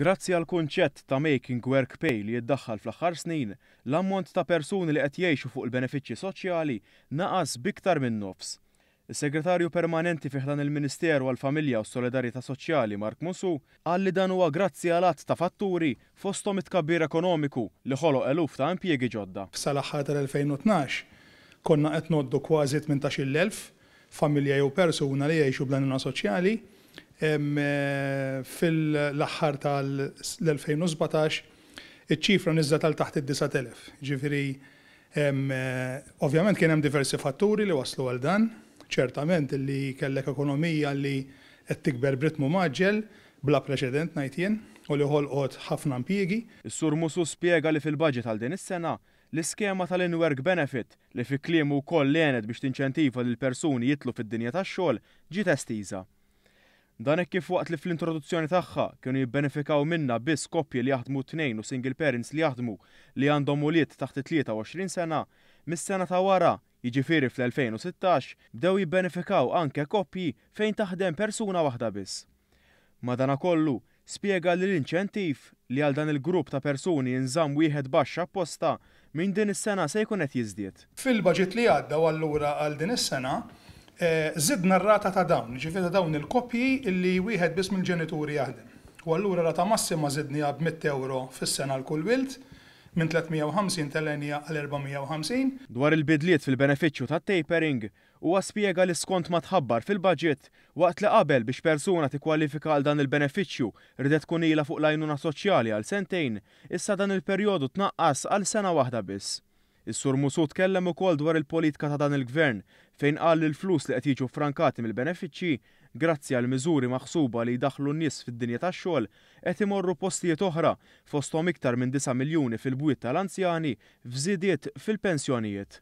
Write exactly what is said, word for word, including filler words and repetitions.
Grazzi għall-kunċett ta' Making Work Pay li jiddaħħal fl-aħħar snin, l-ammont ta' persuni li qed jgħixu fuq il-benefiċċji soċjali naqas b'iktar minn nofs. Is-Segretarju Permanenti fi ħdan il-Ministeru għall-Familja u s-Solidarjetà Soċjali Mark Musù qal li dan huwa grazzi għal għadd ta' fatturi, fosthom it-tkabbir ekonomiku li ħoloq eluf ta' impjiegi ġodda. Sal-aħħar tal-elfejn u tnax konna qed ngħoddu kważi tmintax-il elf familja jew persuna li jgħixu bl-għajnuna soċjali. Fil-aħħar tal-elfejn u sbatax iċ-ċifra niżlet għal taħt id-disat elef. Ġifieri, ovvjament kien hemm diversi fatturi li waslu għal dan, ċertament li kellek ekonomija li qed tikber b'ritmu mgħaġġel bla preċedent ngħid jien, u li ħolqot ħafna impjiegi. Is-Sur Musù spjega li fil-budget għal din is-sena l-iskema tal-in-work benefit li fi kliemu wkoll għenet biex tinċentiva lil persuni jidħlu fid-dinja tax-xogħol ġiet estiża. Dan hekk kif waqt li fl-introduzzjoni tagħha kienu jibbenefikaw minnha biss koppji li jaħdmu tnejn u single parents li jaħdmu li għandhom ulied taħt it-tlieta u għoxrin sena, mis-sena ta' wara, jiġifieri fl-elfejn u sittax, bdew jibbenefikaw anke koppji fejn taħdem persuna waħda biss. Madanakollu, spjega li l-inċentiv li għal dan il-grupp ta' persuni jinżamm wieħed baxx apposta minn din is-sena se jkun qed jiżdied. Fil-budget li għadda u allura għal din is-sena, eh, żidna r-rata ta' dawn, ġifieri ta' dawn il-koppji li wieħed biss mill-ġenituri jaħdem. U allura rata massima żidniha b'mitt euro fis-sena għal kull wild, minn tliet mija u ħamsin telenja għal erba' mija u ħamsin. Dwar il-bidliet fil-benefiċċju tat-tapering, huwa spjega li skont ma tħabbar fil-budget, waqt li qabel biex persuna tikkwalifika għal dan il-benefiċċju ridet tkun ilha fuq l-għajnuna soċjali għal sentejn, issa dan il-perjodu tnaqqas għal sena waħda biss. Is-Sur Musù tkellem ukoll dwar il-politika ta' dan il-gvern, fejn qal li l-flus li qed jiġu frankati mill-benefiċċji, grazzi għal miżuri maħsuba li jdaħħlu n-nies fid-dinja tax-xogħol, qed imorru postijiet oħra, fosthom iktar minn disa' miljuni fil-bwiet tal-anzjani f'żidiet fil-pensjonijiet.